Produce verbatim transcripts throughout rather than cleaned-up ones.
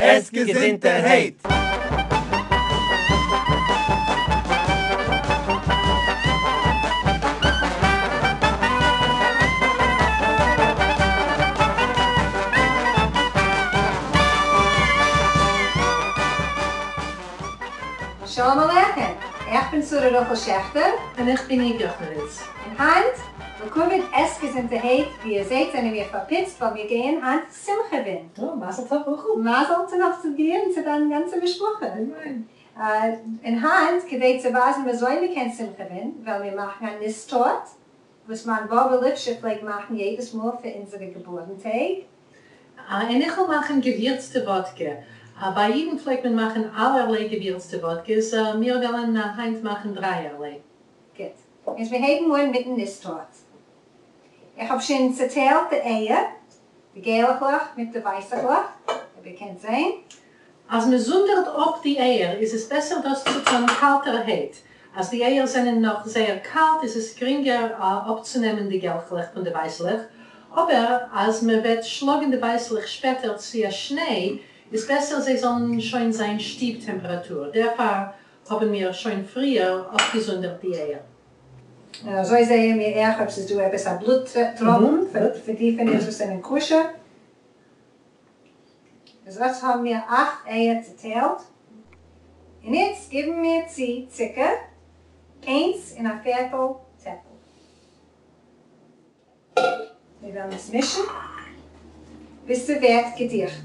עס געזונטערהייט! שלום עליכם, איך בין שרה רחל שעכטער. און איך בין איוו יאכנאוויץ. און היינט, לכבוד עס געזונטערהייט, ווי איר זעט זענען מיר פארפיצט ווייל מיר גייען היינט שמחה'ווען. יא, מזל טוב רחל. מזל טוב צו דיר און צו דיין גאנצע משפחה. אמן. און היינט, כדי צו ווייזן וויאזוי מען קען שמחה'ווען, וועלן מיר מאכן א ניס טארט, וואס מיין באבע ליפשע פלעגט מאכן יעדעס מאל פאר אונזערע געבורן טעג. און איך וועל מאכן געווירצטע וואדקע. ביי אידן פלעגט מען מאכן אלערליי געווירצטע וואדקעס, מיר וועלן היינט מאכן דרייערליי. גוט. איז מיר הייבן אן מיטן ניס טארט. איך האב שוין צעטיילט די אייער, די געלעכלעך מיט די ווייסעכלעך, אויב איר קענט זען. אז מען זונדערט אפ די אייער איז עס בעסער דאס צו טון קאלטערהייט. אז די אייער זענען נאך זייער קאלט איז עס גרינגער אפצונעמען די געלכלעך פון די ווייסלעך, אבער אז מען וועט שלאגן די ווייסלעך שפעטער צו א שניי איז בעסער זיי זאלן שוין זיין שטוב טעמפעראטור, דערפאר האבן מיר שוין פריער אפגעזונדערט די אייער. און אזוי זעען מיר אויך אויב ס'איז דא עפעס א בלוט טראפן פאר די פון אונז וואס זענען כשר. איז יעצט האבן מיר אכט אייער צעטיילט. און איצט גיבן מיר צו צוקער, איינס און א פערטל טעפל. מיר וועלן עס מישן ביז ס'ווערט געדיכט.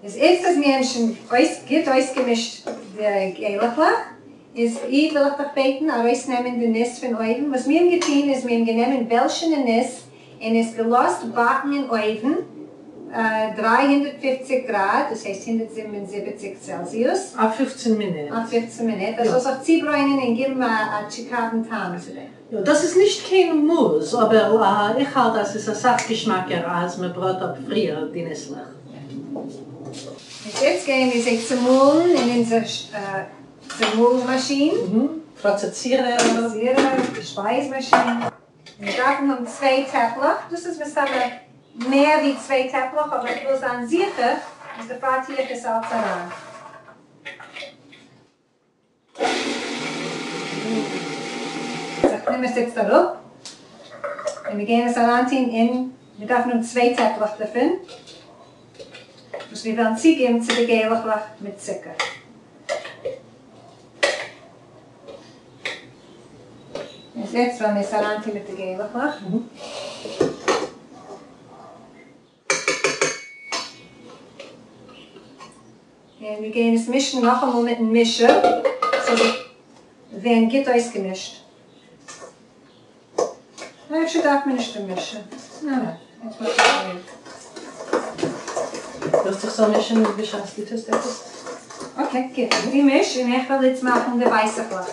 איז איצט אז מיר האבן שוין אויס גוט אויסגעמישט די געלעכלעך, איז איוו וויל איך דיך בעטן ארויסנעמען די ניס פון אויוון. וואס מיר האבן געטון איז מיר האבן גענומען בעלשענע ניס און עס געלאזט באקן אין אויוון דרײַ הונדערט פֿופֿציק גראד, דאס הייסט הונדערט זיבן און זיבעציק צעלזיוס. אויף פֿופֿצן מינוט. אויף פֿופֿצן מינוט, דאס זאל זיך צוברוינען און גיבן א טשיקאוון טעם צו דעם. יא, דאס איז נישט קיין מוז, אבער איך האלט אז ס'איז אסאך געשמאקער אז מ'בראט אפ פריער די ניסלעך. איז איצט גייען מיר זיי צומאלן אין אונזער צומאל מאשין. פראצעסירער. פראצעסירער, שפייז מאשין. מיר דארפן האבן צוויי טעפלעך, דאס איז מסתמא מער ווי צוויי טעפלעך, אבער איך וויל זיין זיכער, איז דערפאר טו איך עס אלץ אריין. איך נעם עס איצט אראפ, און מיר גייען עס אריינטון אין, מיר דארפן האבן צוויי טעפלעך דערפון, וואס מיר וועלן צוגעבן צו די געלעכלעך מיט צוקער. איז יעצט וועלן מיר עס אריינטון מיט די געלעכלעך. און מיר גייען עס מישן נאכאמאל מיטן מישער, ס'זאל זיך ווערן גוט אויסגעמישט. נו, אפשר דארף מען נישט דעם מישער. ניין, ניין, יעצט מאך איך אזוי. ווילסט איך זאל מישן בשעת דו טוסט עפעס? okay, גוט. דו מיש און איך וועל איצט מאכן די ווייסעכלעך.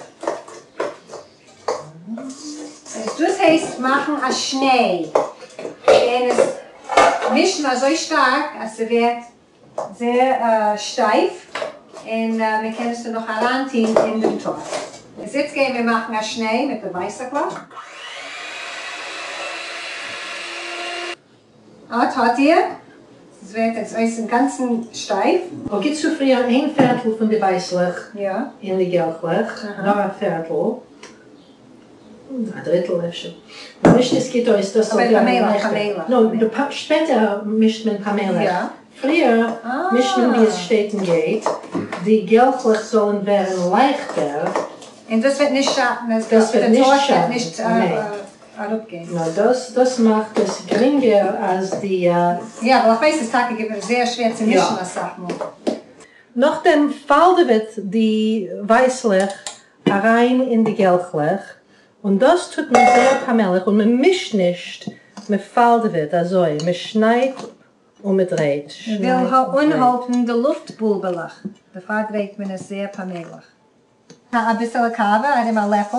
דאס הייסט מאכן א שניי. און עס מישן אזוי שטארק אז ס'ווערט זייער שטייף, און מען קען עס דערנאך אריינטון אין דעם טארט. איז איצט גייען מיר מאכן א שניי מיט די ווייסעכלעך. אט האט איר, עס ווערט יעצט אויס אינגאנצן שטייף. און גיט צו פריער איין פערטל פון די ווייסלעך אין די געלכלעך, נאר א פערטל, א דריטל אפשר, און מישט עס גוט אויס, דאס זאל ווערן לייכטער. נו, שפעטער מישט מען פאמעליך, פריער מישט מען ווי עס שטייט און גייט, די געלכלעך זאלן ווערן לייכטער. און דאס וועט נישט שאטן, אז דער טארט וועט נישט אראפגיין. נאר דאס דאס מאכט עס גרינגער אז די. יא, ווייל איך ווייס ס'איז טאקע געווען זייער שווער צו מישן אסאך מאל. נאכדעם פאלדעוועט די ווייסלעך אריין אין די געלכלעך, און דאס טוט מען זייער פאמעליך און מען מישט נישט, מען פאלדעוועט אזוי, מען שניידט און מען דרייט, מען וויל אנהאלטן די לופט בולבעלעך, דערפאר דרייט מען עס זייער פאמעליך. אביסעלע קאווע, ארום א לעפל.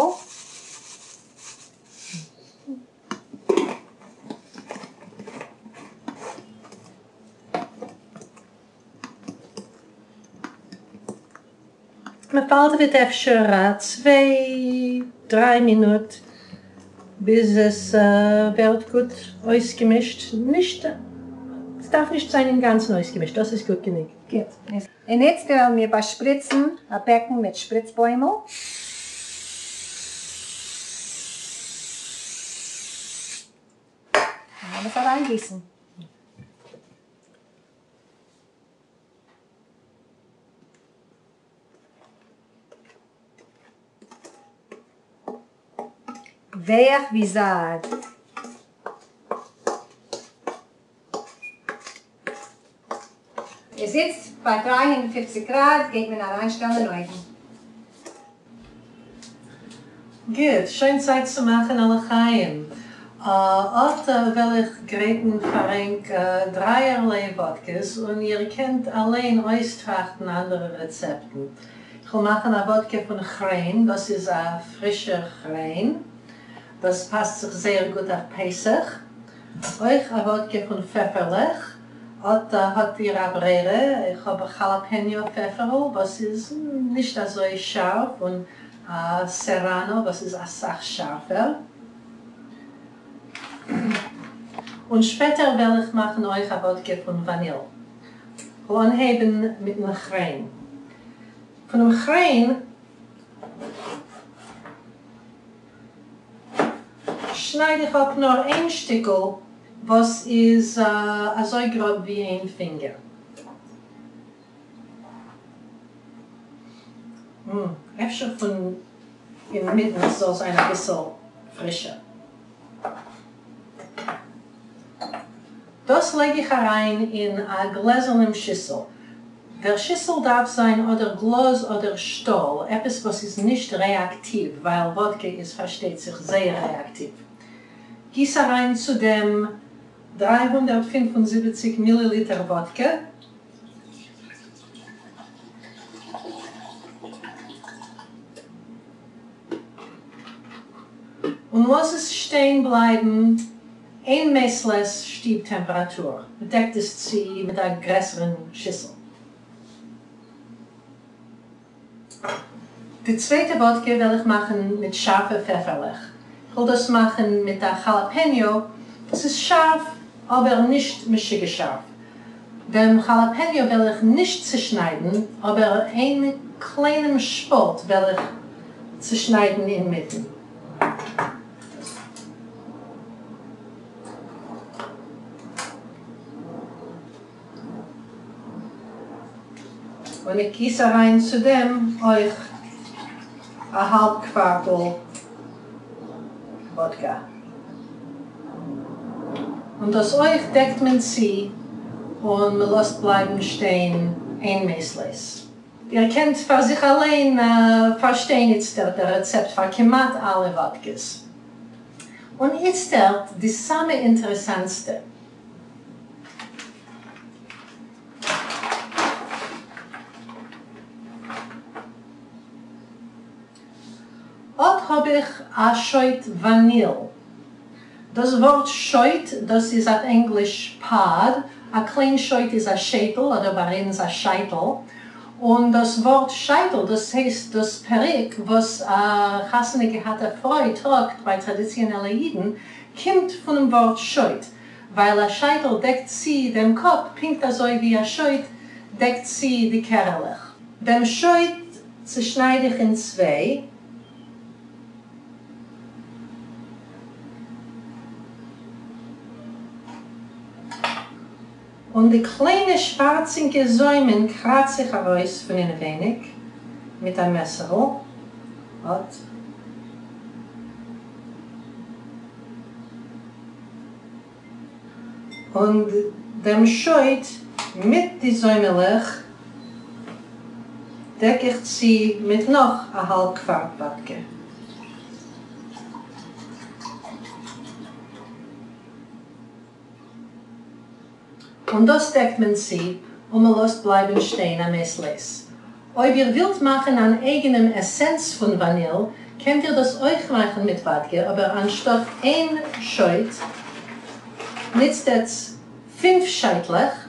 מען פאלדעוועט אפשר א צוויי דריי מינוט ביז עס ווערט גוט אויסגעמישט. נישט, עס דארף נישט זיין אינגאנצן אויסגעמישט, דאס איז גוט גענוג. גוט. און איצט וועלן מיר באשפריצן א בעקן מיט שפריצבוימל. און לאמיר עס אריינגיסן. ווייך ווי זייד. איז איצט ביי דרײַ הונדערט פֿופֿציק גראד גייט מען אריינשטעלן אין אויוון. גוט, שוין צייט צו מאכן א לחיים. אט וועל איך גרייטן פאר ענק דרייערליי וואדקעס און איר קענט אליין אויסטראכטן אנדערע רעצעפטן. איך וועל מאכן א וואדקע פון כריין, דאס איז א פרישער כריין, דאס פאסט זיך זייער גוט אויף פסח. אויך א וואדקע פון פעפערלעך, אט האט איר א ברירה, איך האב א כאלאפעניאו פעפערל וואס איז נישט אזוי שארף און א סעראנא וואס איז אסאך שארפער. און שפעטער וועל איך מאכן אויך א וואדקע פון וואניל. כ'וועל אנהייבן מיטן כריין. פונעם כריין שנייד איך אפ נאר איין שטיקל וואס איז אזוי גראב ווי איין פינגער. אפשר פון אינמיטן זאל זיין אביסל פרישער. דאס לייג איך אריין אין א גלעזערנעם שיסל. דער שיסל דארף זיין אדער גלאז אדער שטאל, עפעס וואס איז נישט רעאקטיוו, ווייל וואדקע איז פארשטייט זיך זייער רעאקטיוו. גיס אריין צו דעם דרײַ הונדערט פֿינף און זיבעציק מיליליטער וואדקע. און לאז עס שטיין בלייבן איין מעת לעת שטוב טעמפעראטור, מ'דעקט עס צו מיט א גרעסערן שיסל. די צווייטע וואדקע וועל איך מאכן מיט שארפע פעפערלעך. איך וועל דאס מאכן מיט א כאלאפעניאו וואס איז שארף אבער נישט משוגע שארף. דעם כאלאפעניאו וועל איך נישט צושניידן, אבער איין קליינעם שפאלט וועל איך צושניידן אינמיטן. און איך גיס אריין צו דעם אויך א האלב קווארטל וואדקע. און דאס אויך דעקט מען צו און מען לאזט בלייבן שטיין איין מעת לעת. איר קענט פאר זיך אליין פארשטיין איצטערט דער רעצעפט פאר כמעט אלע וואדקעס. און איצטערט די סאמע אינטערעסאנטסטע. אט האב איך א שויט וואניל. דאס ווארט שויט, דאס איז אויף ענגליש pod, א קליין שויט איז א שייטל אדער ביי אונז א שייטל, און דאס ווארט שייטל דאס הייסט דאס פעריק וואס א חתונה געהאטע פרוי טראגט ביי טראדיציאנעלע אידן, קומט פונעם ווארט שויט, ווייל א שייטל דעקט צו דעם קאפ פונקט אזוי ווי א שויט דעקט צו די קערעלעך. דעם שויט צושנייד איך אין צוויי. און די קליינע שווארצינקע זוימען קראץ איך ארויס פון אינעווייניג מיט א מעסערל. אט. און דעם שויט מיט די זוימעלעך דעק איך צו מיט נאך א האלב קווארט וואדקע. און דאס דעקט מען צו און מען לאזט בלייבן שטיין א מעת לעת. אויב איר ווילט מאכן אן אייגענעם עסענס פון וואניל, קענט איר דאס אויך מאכן מיט וואדקע, אבער אנשטאט איין שויט ניצט עטס פינף שייטלעך,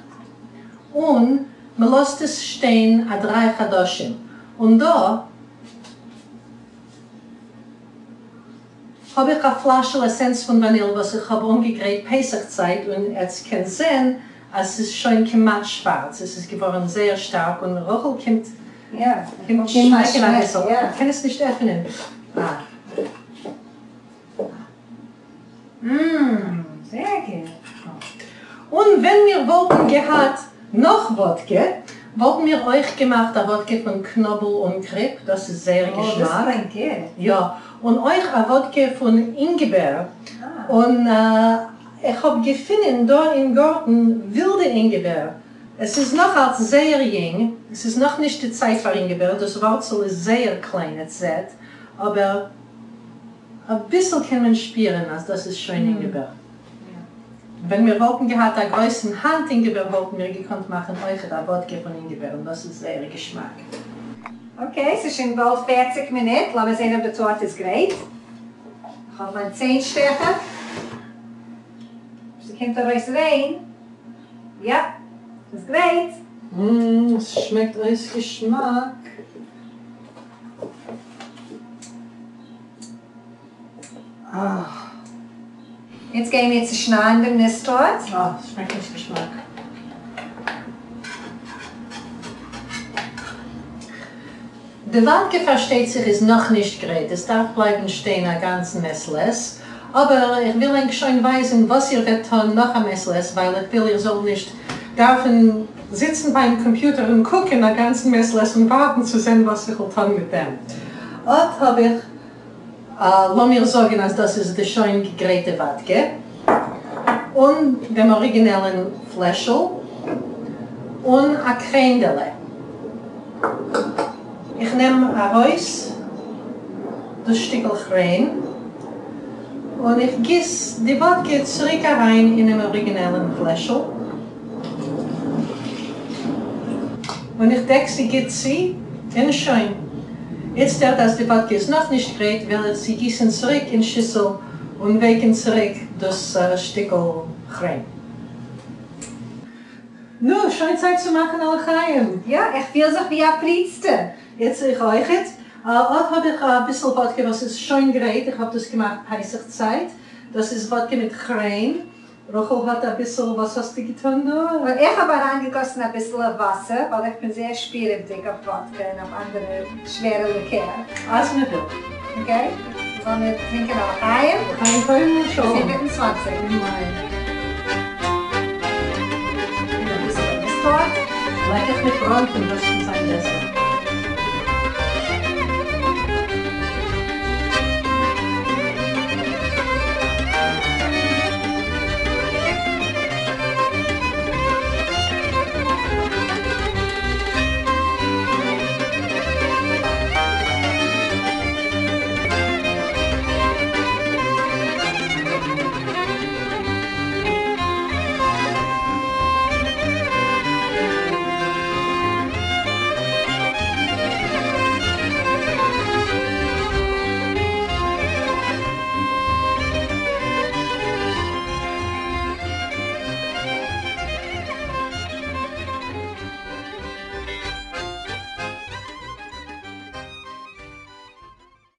און מען לאזט עס שטיין א דריי חדשים. און דא האב איך א פלעשל עסענץ פון וואניל וואס איך האב אנגעגרייט פסח צייט און עטס קענט זען אז ס'איז שוין כמעט שווארץ, עס איז געווארן זייער שטארק און רחל קומט יא, קומט שמעקן אביסל, איך קען עס נישט עפענען. אה. מmm, זייער גוט. און ווען מיר וואלטן געהאט נאך וואדקע, וואלטן מיר אויך געמאכט א וואדקע פון קנאבל און קריפ, דאס איז זייער געשמאק. דאס קלינגט גוט. יא, און אויך א וואדקע פון אינגעבער, און איך האב געפינען דא אין גארטן ווילדע אינגעבער, עס איז נאך אלץ זייער יונג, עס איז נאך נישט די צייט פאר אינגעבער, דאס ווארצל איז זייער קליין, עטס זעט, אבער אביסל קען מען שפירן אז דאס איז שוין אינגעבער. ווען מיר וואלטן געהאט א גרויסן האנט אינגעבער וואלטן מיר געקאנט מאכן אויכעט א וואדקע פון אינגעבער און דאס איז זייער געשמאק. Okay, ס'איז שוין באלד פֿערציק מינוט, לאמיר זען אויב די טארט איז גרייט. איך האב מיין ציין שטעכער. ס'קומט ארויס ריין. יא, ס'איז גרייט. ממ, ס'שמעקט אויס געשמאק. אה. יעצט גייען מיר צושניידן דעם ניס טארט. אה, ס'שמעקט אויס געשמאק. די וואדקע פארשטייט זיך איז נאכנישט גרייט, עס דארף בלייבן שטיין א גאנצן מעת לעת, אבער איך וויל ענק שוין ווייזן וואס איר וועט טון נאך א מעת לעת, ווייל איך וויל איר זאלט נישט דארפן זיצן ביים קאמפיוטער און קוקן א גאנצן מעת לעת און ווארטן צו זען וואס איך וועל טון מיט דעם. אט האב איך, לאמיר זאגן אז דאס איז די שוין געגרייטע וואדקע, און דעם אריגינעלן פלעשל, און א קרענדעלע. איך נעם ארויס דאס שטיקל כריין, און איך גיס די וואדקע צוריק אריין אינעם אריגינעלן פלעשל, און איך דעק זי גוט צו, און שוין. איצטערט אז די וואדקע איז נאכנישט גרייט, וועל איך זי גיסן צוריק אין שיסל און ווייקן צוריק דאס שטיקל כריין. נו, שוין צייט צו מאכן א לחיים. יא, איך פיל זיך ווי א פריצטע. יעצט איך אויכעט. אט האב איך אביסל וואדקע וואס איז שוין גרייט, איך האב דאס געמאכט פסח צייט. דאס איז וואדקע מיט כריין. רחל האט אביסל, וואס האסטו געטון דא? איך האב אריינגעגאסן אביסל וואסער, ווייל איך בין זייער שפירעוודיג אויף וואדקע און אויף אנדערע שווערע ליקער. אז מען וויל. Okay, לאמיר טרינקען א לחיים. לחיים טובים ושלום. זיבן און צוואַנציק. לעקעך מיט בראנפן, דאס קען זיין בעסער.